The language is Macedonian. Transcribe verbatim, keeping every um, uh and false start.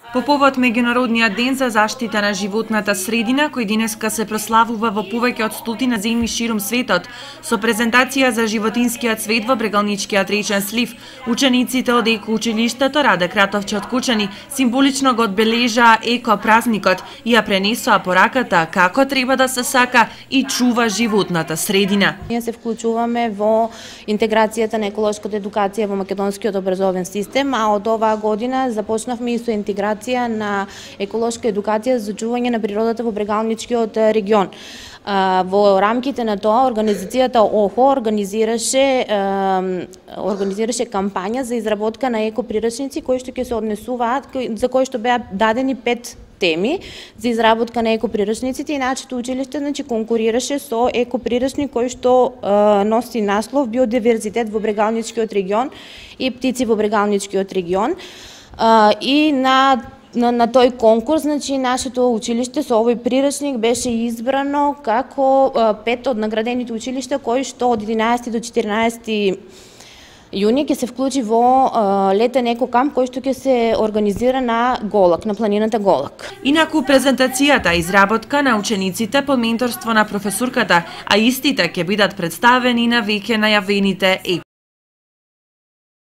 По повод Меѓународниот ден за заштита на животната средина, кој денеска се прославува во повеќе од стотина земји ширум светот, со презентација за животинскиот свет во Брегалничкиот речен слив, учениците од Еко училиштето Раде Кратовче од Кучани символично го одбележаа еко празникот и ја пренесоа пораката како треба да се сака и чува животната средина. Ние се вклучуваме во интеграцијата на еколошката едукација во македонскиот образовен систем, а од оваа година започнавме и со интеграција на еколошка едукација за чување на природата во Брегалничкиот регион. Во рамките на тоа организацијата ОХО организираше организираше кампања за изработка на екоприрачници кои што ќе се однесуваат, за кои што беа дадени пет теми за изработка на екоприрачниците и нашето училиште значи конкурираше со екоприрачник кој што е, носи наслов Биодиверзитет во Брегалничкиот регион и птици во Брегалничкиот регион. Uh, и на, на, на тој конкурс, значи, нашето училиште со овој прирачник беше избрано како uh, пет од наградените училишта кои што од единаесети до четиринаесети јуни ќе се вклучи во uh, летен екокамп кој што ќе се организира на Голак, на планината Голак. Инаку презентацијата изработка на учениците под менторство на професорката, а истите ќе бидат представени на веќе најавените